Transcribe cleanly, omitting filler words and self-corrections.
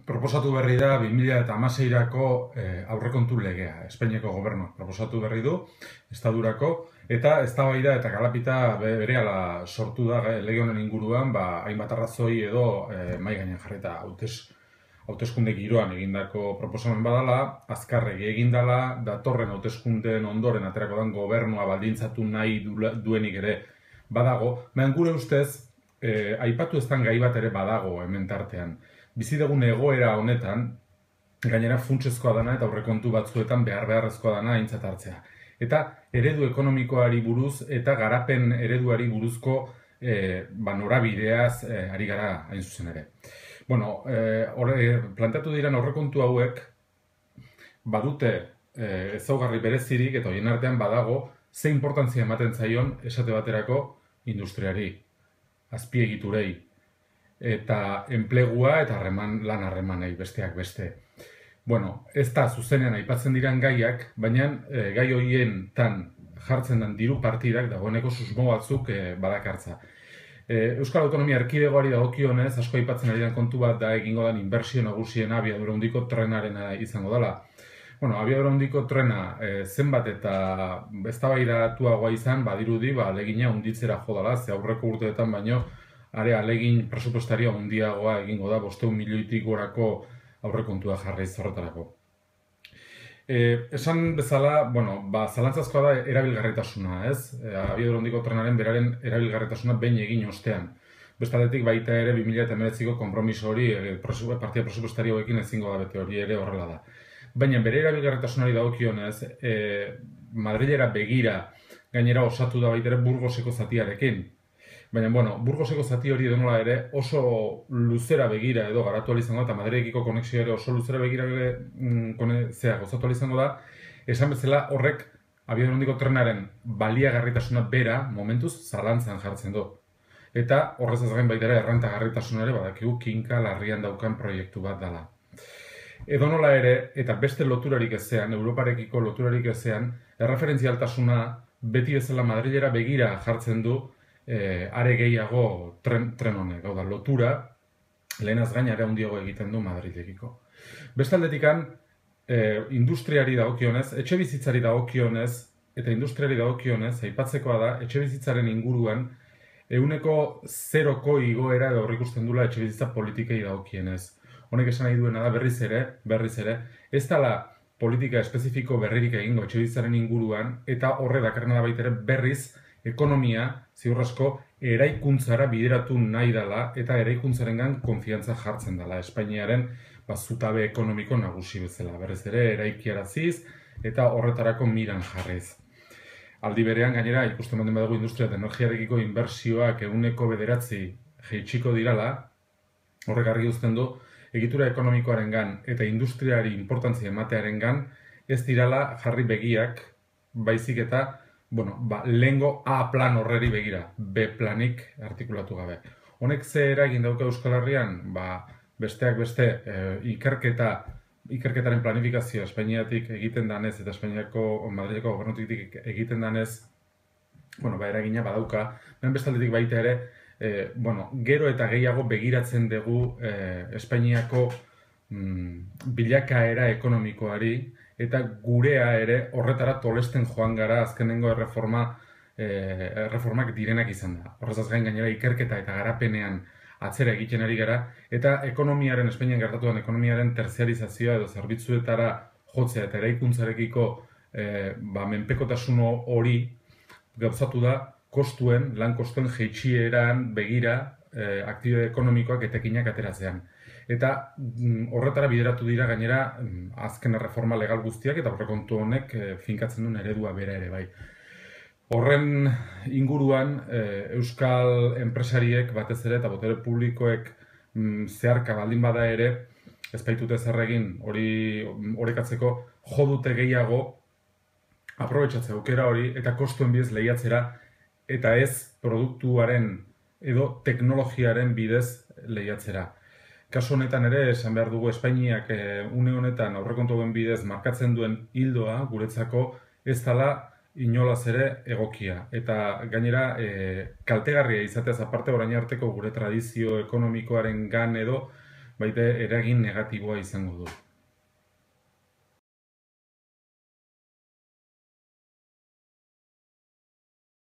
Proposatu berri da 2016ko aurrekontu legea. Espainiako gobernuak proposatu berri du, estadurako, eta eztabaida eta galapita berehala sortu da lege honen inguruan, hainbat arrazoi edo mahai gainean jarrita hauteskunde giroan egindako proposamen badala, azkarregi egindala, datorren hauteskundeen ondoren aterako den gobernua baldintzatu nahi duenik ere badago, baina gure ustez, aipatu eztan gai bat ere badago hemen tartean. Bizi dugun egoera honetan, gainera funtsezkoa dana eta aurrekontu batzuetan beharrezkoa dana aintzat hartzea. Eta eredu ekonomikoari buruz eta garapen ereduari buruzko norabideaz ari gara hain zuzen ere. Bueno, planteatu diren aurrekontu hauek badute ezaugarri berezirik eta horien artean badago ze inportantzia ematen zaion esate baterako industriari, azpiegiturei, eta enplegua eta lan harremanei besteak beste. Bueno, ez da zuzenean aipatzen diren gaiak, baina gai horien jartzen den diru partidak dagoeneko susmo batzuk badakartza. Euskal Autonomia Erkidegoari dagokionez, asko aipatzen ari den kontu bat da egingo den inbertsio nagusiena abiadura handiko trenarena izango dela. Bueno, abiadura handiko trena zenbat eta eztabaidatuagoa izan, badirudi, alegina handitzera jo dela, ze aurreko urteetan baino alegin presupuestaria handiagoa egingo da 500 milioitik gorako aurrekontua jarri horretarako. Esan bezala, zalantzazkoa da erabilgarritasuna, ez? Abiadura handiko trenaren beraren erabilgarritasuna behin egin ostean. Bestaldetik baita ere 2019ko konpromiso hori partida presupuestaria hauekin ezingo da bete, hori ere horrela da. Baina bere erabilgarritasunari dagokionez, Madrilera begira gainera osatu da baita ere Burgoseko zatiarekin. Baina, Burgoseko zati hori denola ere oso luzera begira edo garatu izango da, eta Madridekiko konexioa ere oso luzera begira gozatu izango da, esan bezala horrek abiadura handiko trenaren baliagarritasuna bera momentuz zalantzan jartzen du. Eta horrez ez gain baita ere errentagarritasuna ere badakigu kinka larrian daukan proiektu bat dela. Edonola ere, eta beste loturarik ezean, Europarekiko loturarik ezean, erreferentzialtasuna beti bezala Madrilera begira jartzen du are gehiago tren honek, hau da, lotura, lehenaz gain are handiago egiten du Madrilekiko. Bestaldetikan, industriari dagokionez, etxe bizitzari dagokionez, eta industriari dagokionez, aipatzekoa da, etxe bizitzaren inguruan, 0ko igoera edo aurreikusten dula etxe bizitza politikei dagokienez. Honek esan nahi duena da berriz ere, ez dela politika espezifiko berririk egingo etxe bizitzaren inguruan, eta horre dakarrena da baita ere berriz ekonomia, ziur asko, eraikuntzara bideratu nahi dela eta eraikuntzarengan konfiantza jartzen dela. Espainiaren zutabe ekonomiko nagusi bezala. Berriz ere, eraikiaraziz eta horretarako miran jarriz. Aldi berean, gainera, ikusten baldin badago industria eta energiarekiko inbertsioak 9% jaitsiko dirala, horrek argi uzten du, egitura ekonomikoarengan eta industriari inportantzia ematearengan ez dirala jarri begiak, baizik eta lehengo A plan horreri begira, B planik artikulatu gabe. Honek ze eragin dauka Euskal Herrian? Besteak beste, ikerketaren planifikazioa Espainiatik egiten danez eta Espainiako Madrileko gobernutik egiten danez, eragina badauka, bestaldetik baita ere, gero eta gehiago begiratzen dugu Espainiako bilakaera ekonomikoari, eta gurea ere horretara tolesten joan gara azkenengo erreformak direnak izan da. Horrezaz gain gainera ikerketa eta garapenean atzera egiten ari gara, eta Espainian gertatuan ekonomiaren terziarizazioa edo zerbitzuetara jotzea eta eraikuntzarekiko menpekotasun hori gauzatu da lan kostuen jaitsieran begira aktibitate ekonomikoak etekinak ateratzean. Eta horretara bideratu dira gainera azken erreforma legal guztiak eta aurrekontu honek finkatzen duen eredua bera ere bai. Horren inguruan euskal enpresariek batez ere eta botere publikoek zeharka baldin bada ere ez baitute zer egin horrekatzeko jo dute gehiago aprobetxatzea aukera hori eta kostuen bidez lehiatzera eta ez produktuaren edo teknologiaren bidez lehiatzera. Kasu honetan ere, esan behar dugu Espainiak une honetan aurrekontu hauen bidez markatzen duen hildoa guretzako ez dela inolaz ere egokia. Eta gainera, kaltegarria izateaz aparte orain arteko gure tradizio ekonomikoaren gan edo baita eragin negatiboa izango du.